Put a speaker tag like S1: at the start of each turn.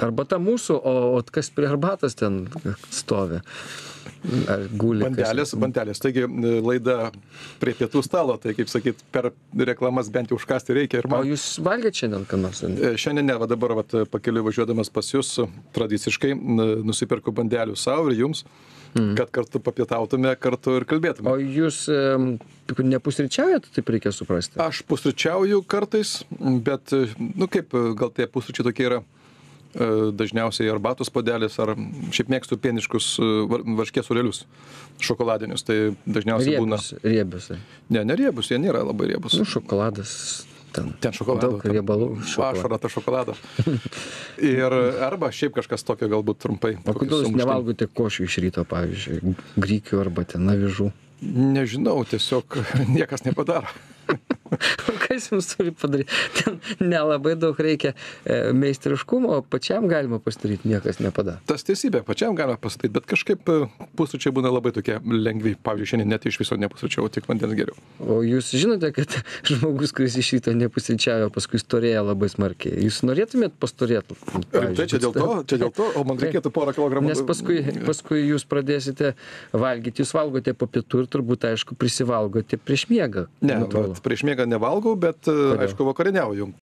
S1: Arbata mūsų, o kas prie arbatos ten stovi? Ar guli?
S2: Bandelės. Taigi laida prie pietų stalo, tai kaip sakyt, per reklamas bent jau užkasti reikia.
S1: O jūs valgėt šiandien ką nors?
S2: Šiandien ne, va dabar pakeliui važiuodamas pas jūs tradiciškai nusipirku bandelių savo ir jums, kad kartu papietautume, kartu ir kalbėtume.
S1: O jūs nepusryčiaujat, taip reikia suprasti?
S2: Aš pusryčiauju kartais, bet, kaip, gal tie pusryčiai tokie yra dažniausiai arbatos puodelis, ar šiaip mėgstu pieniškus varškės sūrelius, šokoladinius, tai dažniausiai būna.
S1: Riebius.
S2: Ne riebus, jie nėra labai riebus.
S1: Šokoladas.
S2: Ten šokolado.
S1: Daug riebalų.
S2: Ašara ta šokolado. Ir arba šiaip kažkas tokio galbūt trumpai.
S1: O kodėl jūs nevalgote košių iš ryto, pavyzdžiui, grikių arba ten avižų?
S2: Nežinau, tiesiog niekas nepadaro.
S1: Kas jums turi padaryti? Ten nelabai daug reikia meistriškumo, pačiam galima pasidaryti, niekas nepadaro.
S2: Tas teisybė, pačiam galima pasidaryti, bet kažkaip pusryčiai būna labai tokie lengvi. Pavyzdžiui, šiandien net iš viso nepusryčiau, tik vandens geriau.
S1: O jūs žinote, kad žmogus, kuris iš ryto nepusryčiavo, paskui storėja labai smarkiai. Jūs norėtumėt pastorėti?
S2: Tai čia dėl to, o man reikėtų porą kilogramų.
S1: Nes paskui jūs pradėsite valgyti, jūs valgote po pietų ir turbūt, aišku, prisivalgote prieš miegą.
S2: Ne, prieš miegą nevalgau, bet aišku, vakarieniauju.